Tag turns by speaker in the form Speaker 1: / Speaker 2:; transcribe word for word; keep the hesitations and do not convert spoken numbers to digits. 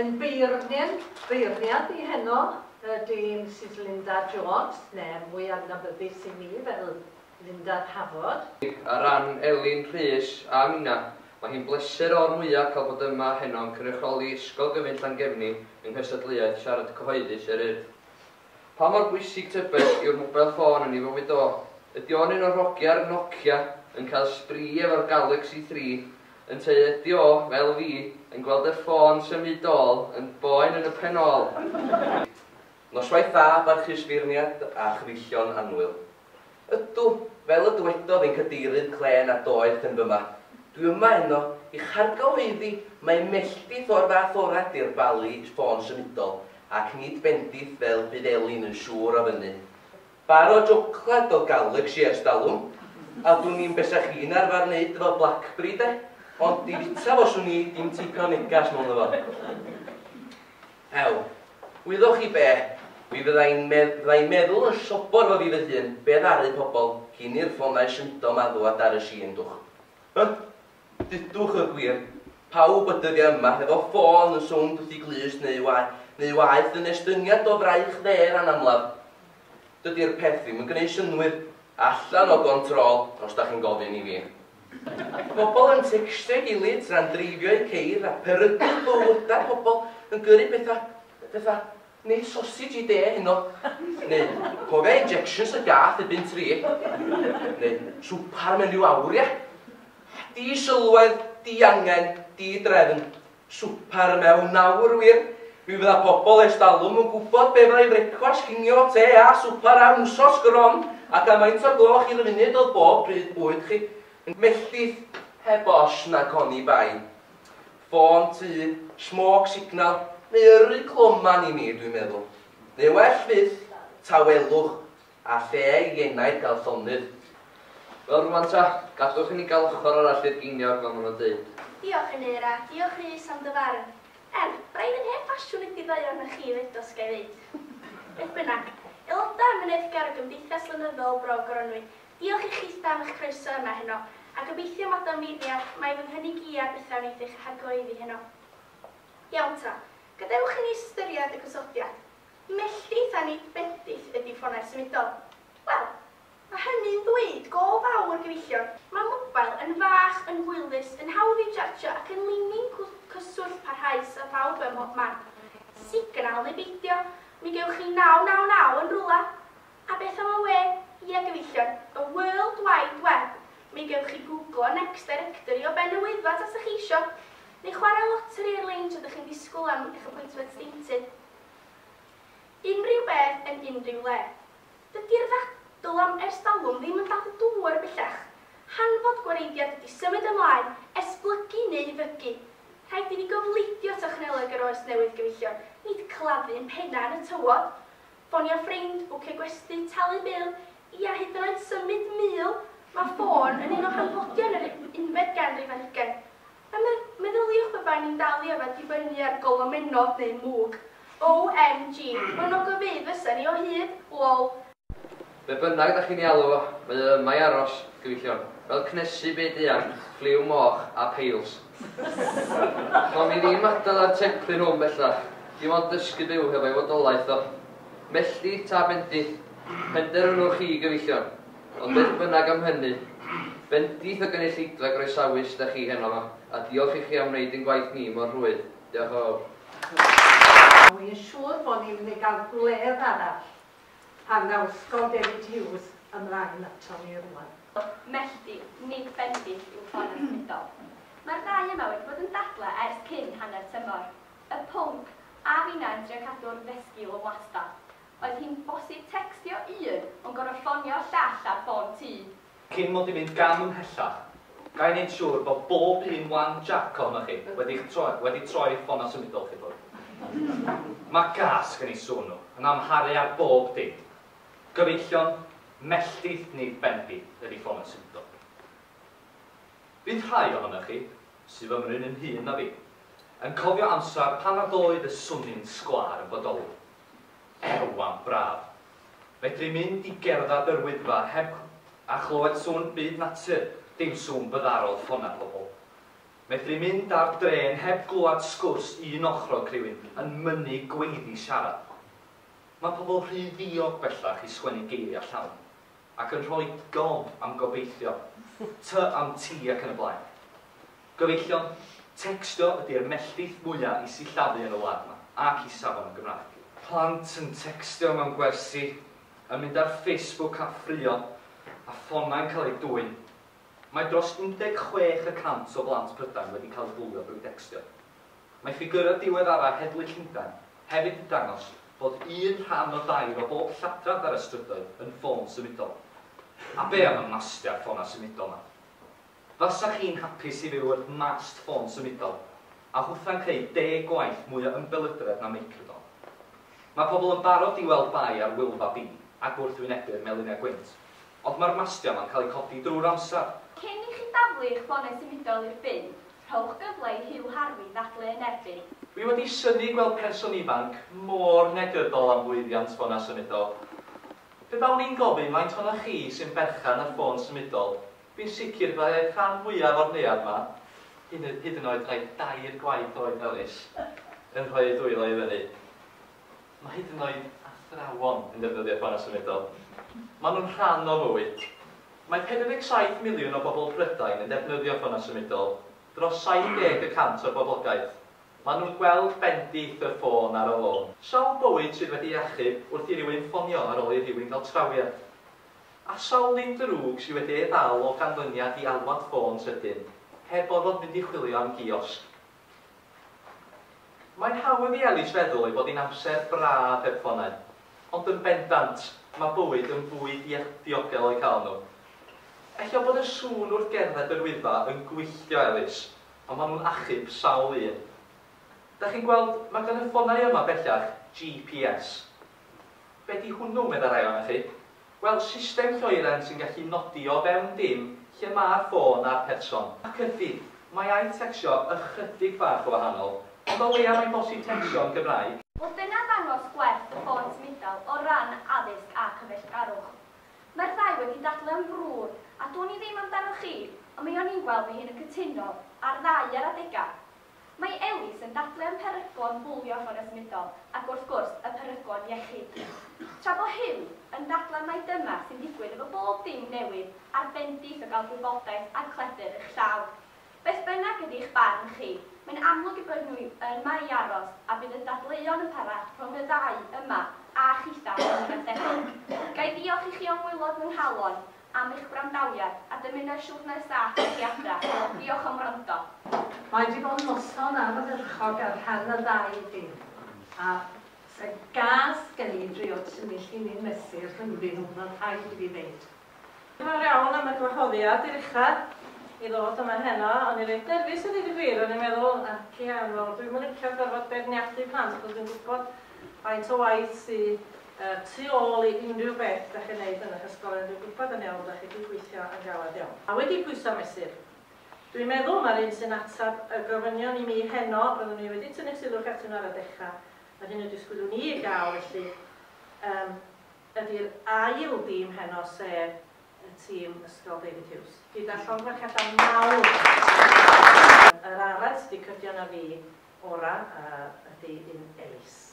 Speaker 1: Yn beirniad, beirniad i heno ydy Misus Linda Jones, neu mwy adnabyddus i mi fel Linda Hafod.
Speaker 2: Ar ran Elin Rhys a minna, mae hi'n bleser o'r mwyaf cael bod yma heno yn cynrychioli Ysgol Gyfun Llangefni yng nghystadleuaeth siarad cyhoeddus yr Urdd. Pa mor bwysig tybed yw'r mobile ffôn yn ei fywyd o? Ydy o'n un o'r hogia'r Nokia yn cael sbri efo'r Galaxy three, ynteu ydy o, fel fi, yn gweld y ffôn symudol yn boen yn y pen ôl?
Speaker 3: Noswaith dda, barchus feirniad a chyfeillion annwyl. Ydw, fel y dywedodd ein cadeirydd clên a doeth yn fyma, dwi yma heno i'ch argyhoeddi mai melltith o'r fath ora 'di'r bali ffôn symudol, ac nid bendith fel bydd Elin yn siŵr o fynnu. Bar o joclad o Galaxy ers dalwm, a dwn i'm be 'sa chi'n arfer wneud efo Blackberry de, ond di fita fo swn i dim tipyn o negas mewn efo. Ew, wyddoch chi be, mi fyddai'n medd- fyddai'n meddwl yn sobor efo fi fy hun be ddaru pobl cyn i'r ffonau symudol 'ma ddwad ar y sîn dwch. Hy? Dudwch y gwir, pawb y dyddiau yma efo ffôn yn sownd wrth i glust neu waeth, neu waeth yn estyniad o fraich dde ran amlaf. Dydi'r peth ddim yn gwneud synnwyr, allan o gontrol, os da chi'n gofyn i fi. Pobl yn textio'i gilydd tra'n dreifio eu ceir a peryglu bywydau pobl yn gyrru pethau, pethau, neu sausage i de heno, neu cofia injections y gath erbyn tri, neu swpar mewn rhyw awr ia. Di sylwedd, di angen, di drefn, swpar mewn awr wir. Mi fydda pobl ers talwm yn gwybod be fyddai frecwast, cinio, te a swpar am wsos gron, ac am faint o'r gloch i'r funud oedd bob pryd bwyd chi. Melltith heb os nac oni bai. Ffôn tŷ, smoke signal, neu yrru cloman i mi, dwi'n meddwl. Neu well fyth, tawelwch, a lle i enaid gael llonydd.
Speaker 2: Wel rwan ta, gadwch i ni gael ochr arall i'r geiniog fel maen nhw'n dweud.
Speaker 4: Diolch Aneira, diolch Rhys am dy farn. Er, braidd yn hen ffasiwn ydi ddau ohonoch chi hefyd, os ga i ddeud. Beth bynnag, aelodau amyneddgar o Gymdeithas Lenyddol Bro Goronwy, diolch i chitha am eich croeso yma heno, a gobeithio Madam Feirniad mai fy nghynnig i ar bethau wneith eich hargyhoeddi heno. Iawn ta, gadewch i ni ystyried y gosodiad. Melltith a nid bendith ydi ffonau symudol. Wel, mae hynny'n ddweud go fawr gyfeillion. Mae mobile yn fach, yn hwylus, yn hawdd i'w chargio ac yn linyn cyswllt parhaus â phawb ym mhob man. Signal neu beidio, mi gewch chi naw naw naw yn rwla. A beth am y we? Ia gyfeillion, y World Wide Web. Mi gewch chi googlo Next Directory o ben y Wyddfa tasach chi isio, neu chwarae lottery ar-lein tra ydych chi'n disgwyl am eich appointment deintydd. Unrhyw beth yn unrhyw le. Dydi'r ddadl am ers talwm ddim yn dal dŵr bellach. Hanfod gwareiddiad ydy symud ymlaen, esblygu neu fygu. Rhaid i ni gofleidio technoleg yr oes newydd gyfeillion, nid claddu'n penna yn y tywod. Ffonio ffrind, bwcio gwesty, talu bil, ia hyd yn oed symud mul. Mae ffôn yn un o hanfodion yr unfed ganrif ar hugain. A meddyliwch pe baen ni'n dal i yfed dibynnu ar golomennod neu mwg. O M G, mewn ogofeydd fysa ni o hyd, lol.
Speaker 2: Be bynnag da chi'n ei alw fo, mae o yma i aros, gyfeillion, fel cnesu byd eang, ffliw moch a peils. Chawn ni ddim adael ar teclyn hwn bellach, dim ond dysgu byw hefo'i fodolaeth o. Melltith ta bendith, penderfynwch chi gyfeillion, ond beth bynnag am hynny, bendith o gynulleidfa groesawus da chi heno yma, a diolch i chi am wneud ein gwaith ni mor rhwydd. Diolch yn fawr.
Speaker 1: Wy'n siŵr bod ni'n mynd i gael gwledd arall pan ddaw Ysgol David Hughes ymlaen ato ni rwan.
Speaker 5: Melltith, nid bendith yw ffonau symudol. Mae'r ddau yma wedi bod yn dadlau ers cyn hanner tymor. Y pwnc, a finna yn trio cadw'r ddesgil yn wastad. Oedd hi'n bosib textio un, ond gorfod ffonio llall ar ffôn tŷ.
Speaker 6: Cyn mod i'n mynd gam ymhellach, ga i wneud siŵr bod bob un wan jack ohonoch chi wedi troi, wedi troi ffonau symudol chi ffwrdd. Mae gas gen i sŵn nhw, yn amharu ar bob dim. Gyfeillion, melltith nid bendith ydi ffonau symudol. Bydd rhai ohonoch chi, sydd fymryn yn hŷn na fi, yn cofio amser pan nad oedd y swnyn sgwâr yn bodoli. Ew am braf. Fedru mynd i gerdded yr Wyddfa heb a chlywed sŵn byd natur, dim sŵn byddarol ffonau pobl. Medru mynd ar drên heb glwad sgwrs un ochrog rhywun yn mynnu gweiddi siarad. Mae pobl rhy ddiog bellach i sgwennu geiriau llawn, ac yn rhoi gob am gobeithio, ty am ti ac yn y blaen. Gyfeillion, textio ydy'r melltith mwyaf i sillafu yn y wlad yma, ac i safon y Gymraeg. Plant yn textio mewn gwersi, yn mynd ar Facebook a ffrio, a ffonau'n cael eu dwyn. Mae dros un deg chwech y cant o blant Prydain wedi cael eu bwlio drwy dextio. Mae ffigurau diweddara Heddlu Llundain hefyd yn dangos bod un rhan o dair o bob lladrad ar y strydoedd yn ffôn symudol. A be am y mastiau ffonau symudol yma? Fasa chi'n hapus i fyw wrth mast ffôn symudol, a hwtha'n creu deg gwaith mwy o ymbelydredd na microdon. Mae pobl yn barod i weld bai ar Wylfa B a gwrthwynebu'r melinau gwynt, ond mae'r mastiau yma'n cael eu codi drwy'r amser.
Speaker 5: Cyn i chi daflu eich ffonau symudol i'r bin, rhowch gyfle i Hugh Harvey ddadlu yn erbyn.
Speaker 7: Dwi wedi synnu gweld person ifanc mor negyddol am lwyddiant ffonau symudol. Pe bawn i'n gofyn faint ohonoch chi sy'n berchen ar ffôn symudol, fi'n sicr byddai'r rhan fwyaf o'r neuadd yma, hyd yn oed rhai dair gwaith oed Elis, yn rhoi eu dwylo i fyny. Mae hyd yn oed athrawon yn defnyddio ffonau symudol. Maen nhw'n rhan o fywyd. Mae pedwar deg saith miliwn o bobl Prydain yn defnyddio ffonau symudol, dros saith deg y cant o'r boblogaeth. Maen nhw'n gweld bendith y ffôn ar y lôn. Sawl bywyd sydd wedi achub wrth i rywun ffonio ar ôl i rywun gael trawiad. A sawl un drwg sydd wedi ei ddal o ganlyniad i alwad ffôn sydyn, heb orfod mynd i chwilio am giosg. Mae'n hawdd i Elis feddwl ei bod hi'n amser braf heb ffonau, ond yn bendant, mae bywyd yn fwy diogel o'i cael nhw. Ella bod y sŵn wrth gerdded yr Wyddfa yn gwylltio Elis, ond maen nhw'n achub sawl un. Da chi'n gweld, mae gan y ffonau yma bellach G P S. Be di hwnnw, meddai rai ohonoch chi? Wel, system lloeren sy'n gallu nodi o fewn dim lle mae'r ffôn a'r person. Ac ydy, mae ai tecsio ychydig bach o wahanol, ond o leia mae'n bosib tecsio yn Gymraeg.
Speaker 5: Wel, dyna ddangos gwerth y ffôn symudol o ran addysg a cyfeillgarwch. Mae'r ddau wedi dadlau yn frwd, a dwn i ddim amdano chi, ond mi o'n i'n gweld fy hun yn cytuno ar ddau ar adegau. Mae Elis yn dadlau am peryglon bwlio ffonau symudol, ac wrth gwrs y peryglon iechyd. Tra bo Hugh yn dadlau mai dyma sy'n digwydd efo bob dim newydd a'r bendith o gael gwybodaeth a'r cledr eich llaw. Beth bynnag ydy eich barn chi, mae'n amlwg i bod nhw yma i aros a bydd y dadleuon yn para rhwng y ddau yma a chitha yn y debyg. Ga i ddiolch i chi o'n waelod fy nghalon am eich gwrandawiad a dymuno siwrne saff i chi adra. Diolch am wrando.
Speaker 1: Mae wedi bod yn noson ardderchog ar rhan y ddau dîm. A se gas gen i drio tynnu llinyn mesur rhyngddyn nhw, mae'n rhaid i fi ddeud.
Speaker 8: Diolch yn fawr iawn am y gwahoddiad i'r ucha i ddod yma heno. O'n i reit nerfus i ddweud y gwir, o'n i'n meddwl, ac iawn, wel, dwi'm yn licio gorfod beirniadu plant, achos dwi'n gwybod faint o waith sydd tu ôl i unrhyw beth da chi'n neud yn eich ysgol, dwi'n gwybod yn iawn, da chi wedi gweithio yn galed iawn. A wedi pwyso mesur, dwi'n meddwl mae'r un sy'n atab y gofynion i mi heno, roeddwn i wedi tynnu sylw atyn nhw ar y dechrau, a'r hyn y disgwyliwn ni i gael, felly, um, ydy'r ail dîm heno, sef y tîm Ysgol David Hughes. Gyda llongyfarchiadau mawr. Yr arall sydd wedi cydio na fi ora uh, ydy un Elis.